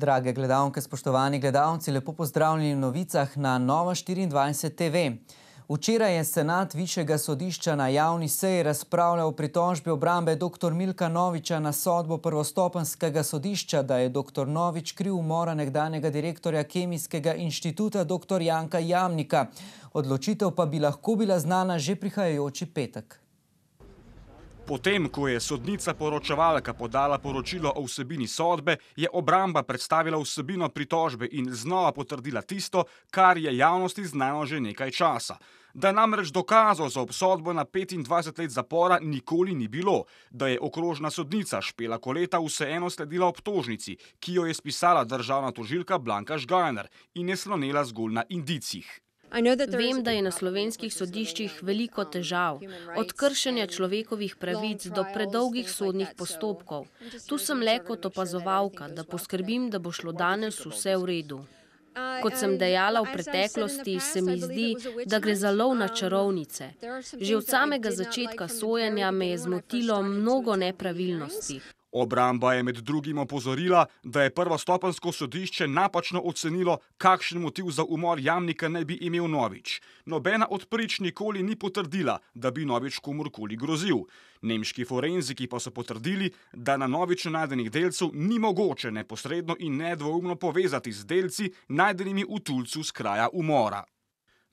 Drage gledalke, spoštovani gledalci, lepo pozdravljeni v novicah na Nova24 TV. Včeraj je senat Višjega sodišča na javni seji razpravljal o pritožbi obrambe dr. Milka Noviča na sodbo prvostopenjskega sodišča, da je dr. Novič kriv umora nekdanjega direktorja Kemijskega inštituta dr. Janka Jamnika. Odločitev pa bi lahko bila znana že prihajajoči petek. Potem, ko je sodnica poročevalka podala poročilo o vsebini sodbe, je obramba predstavila vsebino pritožbe in znova potrdila tisto, kar je javnosti znano že nekaj časa. Da namreč dokazov za obsodbo na 25 let zapora nikoli ni bilo, da je okrožna sodnica Špela Koleta vseeno sledila obtožnici, ki jo je spisala državna tožilka Blanka Žgajner in je slonela zgolj na indicih. Vem, da je na slovenskih sodiščih veliko težav, od kršenja človekovih pravic do predolgih sodnih postopkov. Tu sem le kot opazovalka, da poskrbim, da bo šlo danes vse v redu. Kot sem dejala v preteklosti, se mi zdi, da gre za lov na čarovnice. Že od samega začetka sojenja me je zmotilo mnogo nepravilnosti. Obramba je med drugim opozorila, da je prvostopenjsko sodišče napačno ocenilo, kakšen motiv za umor Jamnika naj bi imel Novič. Nobena od prič nikoli ni potrdila, da bi Novič komurkoli grozil. Nemški forenziki pa so potrdili, da na Noviču najdenih delcev ni mogoče neposredno in nedvoumno povezati z delci, najdenimi v tulcu s kraja umora.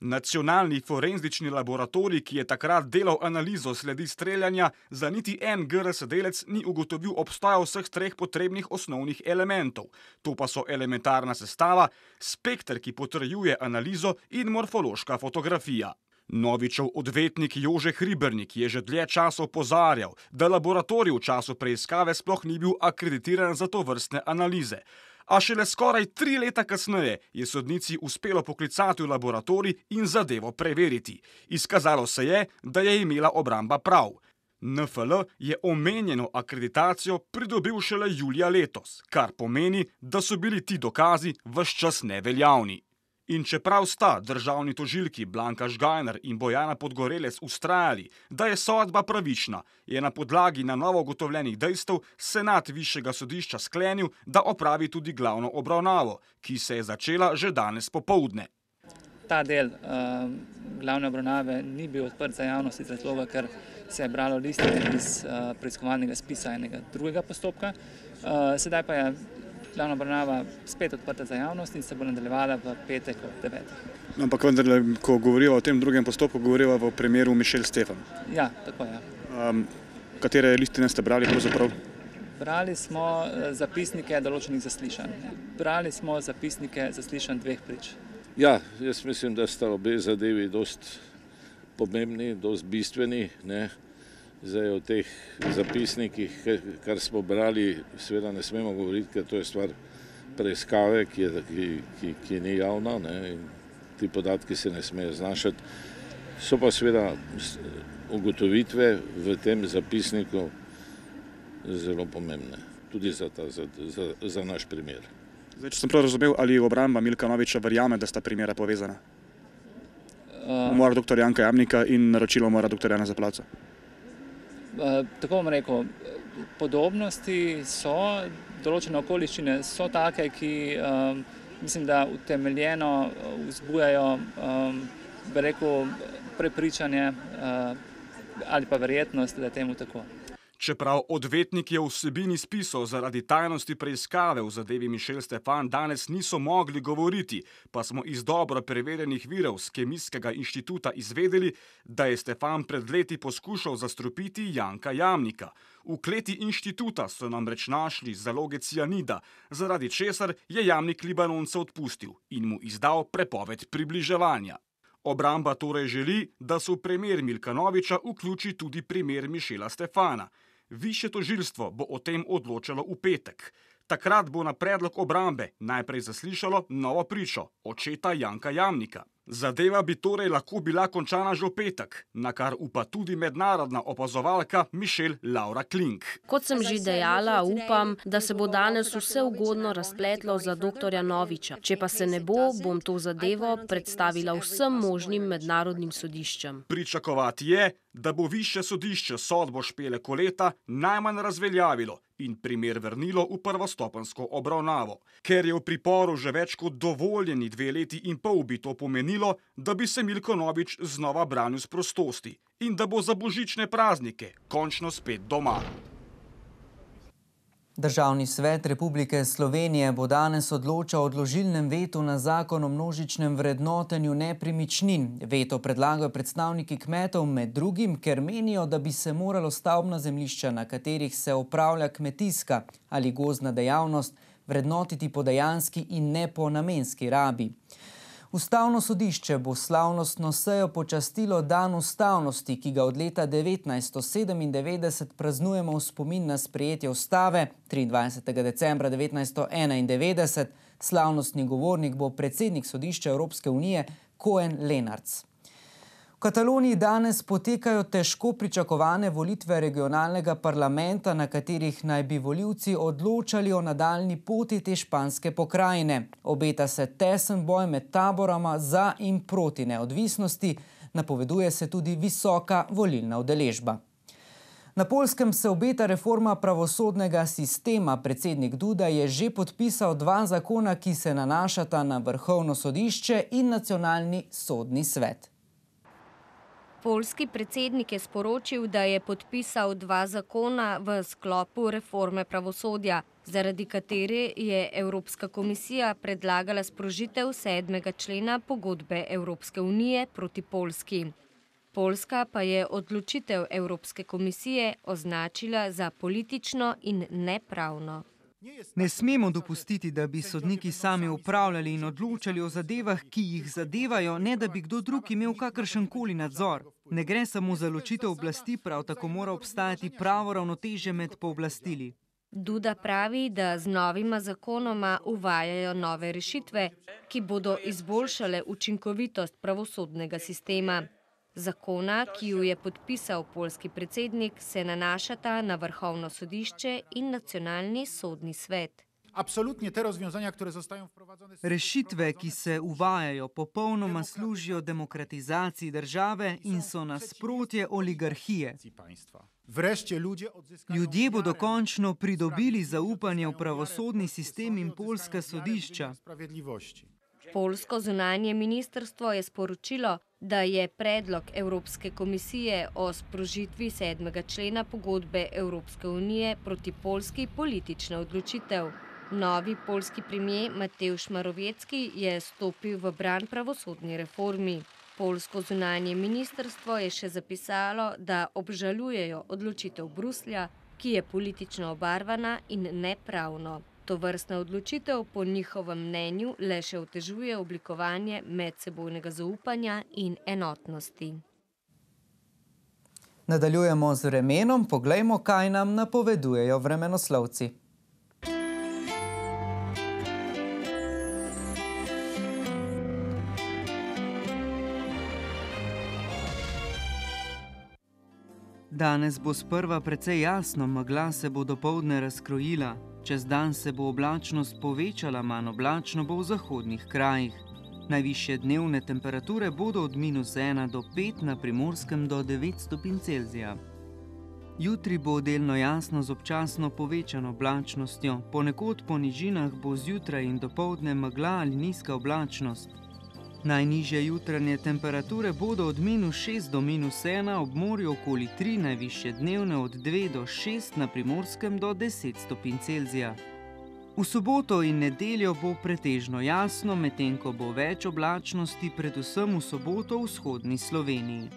Nacionalni forenzični laboratorij, ki je takrat delal analizo sledi streljanja, za niti en GRS delec ni ugotovil obstoja vseh treh potrebnih osnovnih elementov. To pa so elementarna sestava, spekter, ki potrjuje analizo in morfološka fotografija. Novičev odvetnik Jože Hribernik je že dlje časa opozarjal, da laboratorij v času preiskave sploh ni bil akreditiran za tovrstne analize. A šele skoraj 3 leta kasneje je sodnici uspelo poklicati v laboratorij in zadevo preveriti. Izkazalo se je, da je imela obramba prav. NFL je omenjeno akreditacijo pridobil šele julija letos, kar pomeni, da so bili ti dokazi ves čas neveljavni. In čeprav sta državni tožilki Blanka Žgajner in Bojana Podgorelec vztrajali, da je sodba pravična, je na podlagi na novo ugotovljenih dejstev senat Višjega sodišča sklenil, da opravi tudi glavno obravnavo, ki se je začela že danes popoldne. Ta del glavne obravnave ni bil odprt za javnost iz razloga, ker se je bralo listine iz preiskovalnega spisa enega drugega postopka. Sedaj pa je glavna obravnava spet odprta za javnost in se bo nadaljevala v petek ob 9. Ampak vendarle, ko govorijo o tem drugem postopku, govorijo v primeru Mišel Stefan. Ja, tako je. Katere listine ste brali pravzaprav? Brali smo zapisnike določenih zaslišanj. Brali smo zapisnike zaslišanj 2 prič. Ja, jaz mislim, da sta obe zadevi dost pomembni, dost bistveni, ne. Zdaj o teh zapisnikih, kar smo brali, seveda ne smemo govoriti, ker to je stvar preiskave, ki ni javna, ne, in ti podatki se ne smejo znašati. So pa seveda ugotovitve v tem zapisniku zelo pomembne, tudi za naš primer. Zdaj, če sem prav razumel, ali obramba Milka Noviča verjame, da sta primera povezana? Umor dr. Janka Jamnika in naročilo umora dr. Janeza Plavca. Tako bom rekel, podobnosti so, določene okoliščine so take, ki mislim, da utemeljeno vzbujajo, bi rekel, prepričanje ali pa verjetnost, da je temu tako. Čeprav odvetniki o vsebini spisov zaradi tajnosti preiskave v zadevi Mišel Stefan danes niso mogli govoriti, pa smo iz dobro preverjenih virov z Kemijskega inštituta izvedeli, da je Stefan pred leti poskušal zastrupiti Janka Jamnika. V kleti inštituta so namreč našli zaloge cianida, zaradi česar je Jamnik Libanonce odpustil in mu izdal prepoved približevanja. Obramba torej želi, da se v primer Milka Noviča vključi tudi primer Mišela Stefana. Višje tožilstvo bo o tem odločalo v petek. Takrat bo na predlog obrambe najprej zaslišalo novo pričo, očeta Janka Jamnika. Zadeva bi torej lahko bila končana že v petek, na kar upa tudi mednarodna opazovalka Mišel Laura Klink. Kot sem že dejala, upam, da se bo danes vse ugodno razpletlo za dr. Noviča. Če pa se ne bo, bom to zadevo predstavila vsem možnim mednarodnim sodiščem. Pričakovati je, da bo Višje sodišče sodbo Špele Koleta najmanj razveljavilo in primer vrnilo v prvostopenjsko obravnavo. Ker je v priporu že več kot dovoljeni 2 leti in pol, bi to pomenilo, da bi se Milko Novič znova branil s prostosti in da bo za božične praznike končno spet doma. Državni svet Republike Slovenije bo danes odločal o odložilnem vetu na zakon o množičnem vrednotenju nepremičnin. Veto predlagajo predstavniki kmetov med drugim, ker menijo, da bi se moralo stavbna zemljišča, na katerih se opravlja kmetijska ali gozdna dejavnost, vrednotiti po dejanski in ne po namenski rabi. Ustavno sodišče bo slavnostno sejo počastilo dan ustavnosti, ki ga od leta 1997 praznujemo v spomin na sprejetje ustave 23. decembra 1991. Slavnostni govornik bo predsednik sodišča Evropske unije Koen Lenarts. V Kataloniji danes potekajo težko pričakovane volitve regionalnega parlamenta, na katerih naj bi volivci odločali o nadaljnji poti te španske pokrajine. Obeta se tesen boj med taborama za in proti neodvisnosti, napoveduje se tudi visoka volilna udeležba. Na Poljskem se obeta reforma pravosodnega sistema. Predsednik Duda je že podpisal 2 zakona, ki se nanašata na Vrhovno sodišče in Nacionalni sodni svet. Poljski predsednik je sporočil, da je podpisal 2 zakona v sklopu reforme pravosodja, zaradi katere je Evropska komisija predlagala sprožitev 7. člena pogodbe Evropske unije proti Poljski. Poljska pa je odločitev Evropske komisije označila za politično in nepravno. Ne smemo dopustiti, da bi sodniki sami upravljali in odločali o zadevah, ki jih zadevajo, ne da bi kdo drug imel kakršenkoli nadzor. Ne gre samo za ločitev oblasti, prav tako mora obstajati pravo ravnotežje med pooblastili. Duda pravi, da z novima zakonoma uvajajo nove rešitve, ki bodo izboljšale učinkovitost pravosodnega sistema. Zakona, ki ju je podpisal poljski predsednik, se nanašata na Vrhovno sodišče in Nacionalni sodni svet. Rešitve, ki se uvajajo, popolnoma služijo demokratizaciji države in so nasprotje oligarhije. Ljudje bodo končno pridobili zaupanje v pravosodni sistem in poljska sodišča. Poljsko zunanje ministrstvo je sporočilo, da je predlog Evropske komisije o sprožitvi 7. člena pogodbe Evropske unije proti Poljski politična odločitev. Novi poljski premier Mateusz Morawiecki je stopil v bran pravosodni reformi. Poljsko zunanje ministrstvo je še zapisalo, da obžalujejo odločitev Bruslja, ki je politično obarvana in nepravno. Tovrstna odločitev po njihovem mnenju le še otežuje oblikovanje medsebojnega zaupanja in enotnosti. Nadaljujemo z vremenom, poglejmo, kaj nam napovedujejo vremenoslovci. Danes bo sprva precej jasno, megla se bo dopoldne razkrojila. Čez dan se bo oblačnost povečala, manj oblačno bo v zahodnih krajih. Najvišje dnevne temperature bodo od -1 do 5, na Primorskem do 9 stopinj Celzija. Jutri bo delno jasno z občasno povečano oblačnostjo. Ponekod po nižinah bo zjutraj in dopoldne megla ali nizka oblačnost. Najnižje jutranje temperature bodo od -6 do -1, ob morju okoli 3, najvišje dnevne od 2 do 6, na Primorskem do 10 stopinj Celzija. V soboto in nedeljo bo pretežno jasno, medtem ko bo več oblačnosti, predvsem v soboto v vzhodni Sloveniji.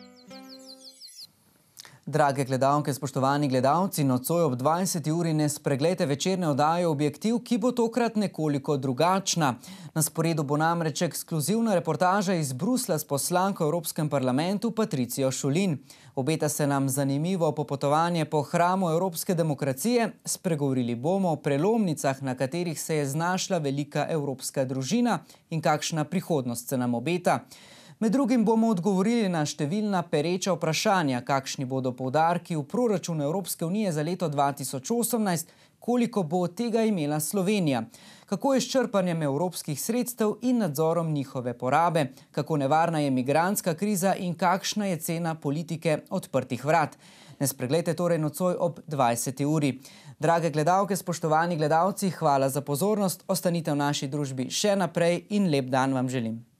Drage gledalke, spoštovani gledalci, nocoj ob 20. uri ne spreglejte večerne oddaje Objektiv, ki bo tokrat nekoliko drugačna. Na sporedu bo namreč ekskluzivna reportaža iz Bruslja s poslanko v Evropskem parlamentu Patricijo Šulin. Obeta se nam zanimivo popotovanje po hramu evropske demokracije. Spregovorili bomo o prelomnicah, na katerih se je znašla velika evropska družina in kakšna prihodnost se nam obeta. Med drugim bomo odgovorili na številna pereča vprašanja, kakšni bodo poudarki v proračunu Evropske unije za leto 2018, koliko bo od tega imela Slovenija, kako je s črpanjem evropskih sredstev in nadzorom njihove porabe, kako nevarna je migrantska kriza in kakšna je cena politike odprtih vrat. Ne spregledajte torej nocoj ob 20. uri. Drage gledalke, spoštovani gledalci, hvala za pozornost, ostanite v naši družbi še naprej in lep dan vam želim.